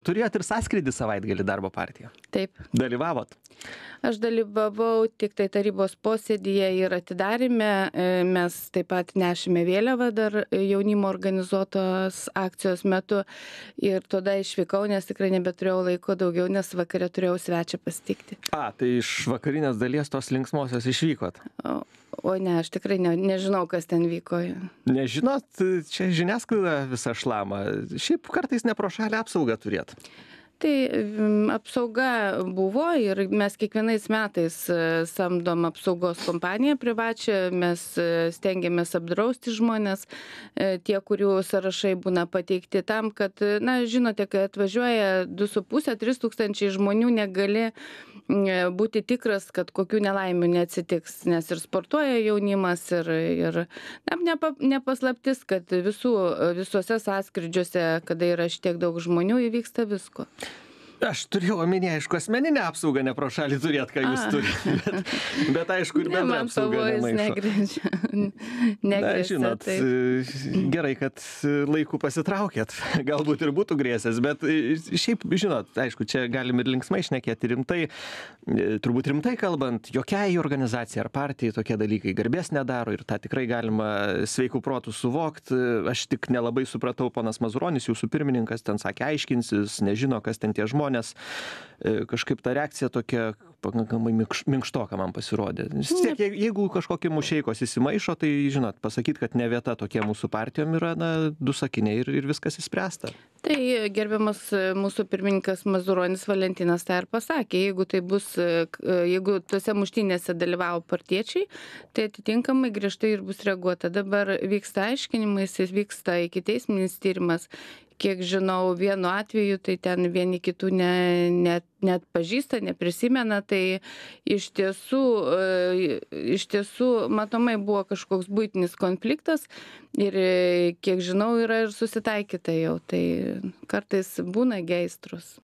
turėjot ir sąskrydį savaitgalį darbo partija. Taip. Dalyvavot? Aš dalyvavau tik tai tarybos posėdyje ir atidarime. Mes taip pat nešėme vėliavą dar jaunimo organizuotos akcijos metu ir tada išvykau, nes tikrai nebeturėjau laiko daugiau, nes vakare turėjau svečią pasitikti. Tai iš vakarinės dalies tos linksmosios išvykot? O ne, aš tikrai nežinau, kas ten vyko. Nežinot, čia žiniasklaida visą šlamą. Šiaip kartais ne pro šalį apsaugą turėt. Tai apsauga buvo ir mes kiekvienais metais samdom apsaugos kompaniją privačią, mes stengiamės apdrausti žmonės, tie, kurių sąrašai būna pateikti tam, kad, na, žinote, kai atvažiuoja 2,5–3 tūkstančiai žmonių, negali būti tikras, kad kokių nelaimių neatsitiks, nes ir sportuoja jaunimas ir nepaslaptis, kad visuose sąskrydžiuose, kada yra šitiek daug žmonių, įvyksta visko. Aš turėjau omeny, aišku, asmeninę apsaugą ne pro šalį turėt, ką jūs turite. Bet aišku, ir bendra apsauga nemaišo. Na, žinot, gerai, kad laiku pasitraukėt. Galbūt ir būtų grėsęs, bet šiaip, žinot, aišku, čia galim ir linksmai šnekėti rimtai. Turbūt rimtai kalbant, jokiai organizacijai ar partijai tokie dalykai garbės nedaro ir tą tikrai galima sveikų protų suvokti. Aš tik nelabai supratau, ponas Mazuronis, jūsų pirmininkas, ten sakė, aiškinsis, nežino, kas ten tie žmonės. Kažkaip ta reakcija tokia pakankamai minkštoka man pasirodė. Jeigu kažkokie mušeikos įsimaišo, tai, žinot, pasakyti, kad ne vieta tokie mūsų partijom yra, na, 2 sakiniai ir viskas įspręsta. Tai gerbiamas mūsų pirmininkas Mazuronis Valentinas tai ir pasakė, jeigu tose muštynėse dalyvavo partiečiai, tai atitinkamai griežtai ir bus reaguota. Dabar vyksta aiškinimais, vyksta ikiteisminis tyrimas. Kiek žinau, vienu atveju, tai ten vieni kitų net pažįsta, neprisimena, tai iš tiesų matomai buvo kažkoks buitinis konfliktas ir kiek žinau, yra ir susitaikyta jau, tai kartais būna geistrus.